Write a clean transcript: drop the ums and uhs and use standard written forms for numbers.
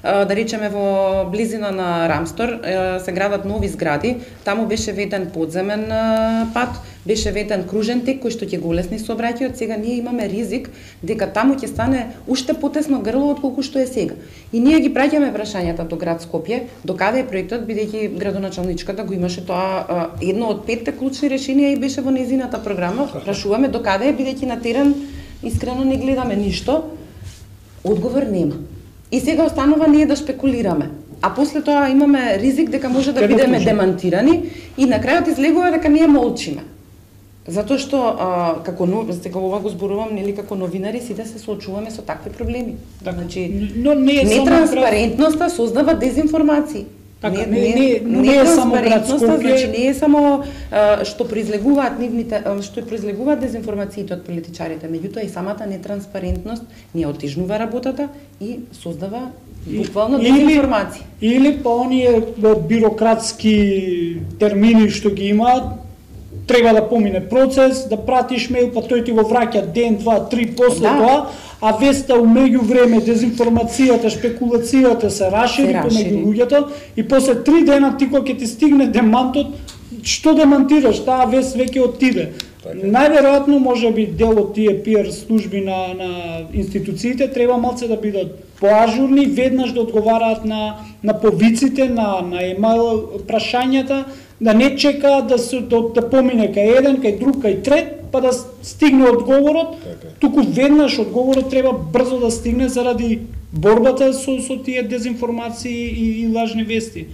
да речеме во близина на Рамстор се градат нови згради, таму беше ветен подземен пат, беше ветен кружен тек кој што ќе го улесни сообраќајот. Сега ние имаме ризик дека таму ќе стане уште потесно грло отколку што е сега. И ние ги праќаме прашањата до град Скопје, до каде е проектот, бидејќи градоначалничката го имаше тоа едно од 5 клучни решенија и беше во незината програма. Прашуваме до каде е, бидејќи на терен искрено не гледаме ништо. Одговор нема. И сега останува ние да спекулираме. А после тоа имаме ризик дека може да бидеме демантирани и на крајот излегува дека ние молчиме. Затоа што како сега ова го зборувам нели како новинари сите се соочуваме со такви проблеми. Значи нетранспарентноста создава дезинформации. Така, не е само град Скопје, значи не е само што произлегуваат нивните, што произлегуваат дезинформациите од политичарите, меѓутоа и самата нетранспарентност не отежнува работата и создава буквално дезинформации. Или па оние бирократски термини што ги имаат, треба да помине процес, да пратиш мејл, па тој ти го враќа ден, два, три после тоа, а веста умеѓу време дезинформацијата, шпекулацијата се рашири помеѓу луѓето и после 3 дена ти кога ќе ти стигне демантот, што демантираш, таа вест веќе отиде. Најверојатно можеби дел од тие PR служби на институциите треба малце да бидат поажурни, веднаш да одговараат на повиците, на емайл прашањата, да не чекаат да помине кај еден, кај друг, кај трет, па да стигне одговорот, туку веднаш одговорот треба брзо да стигне заради борбата со тие дезинформации и лажни вести.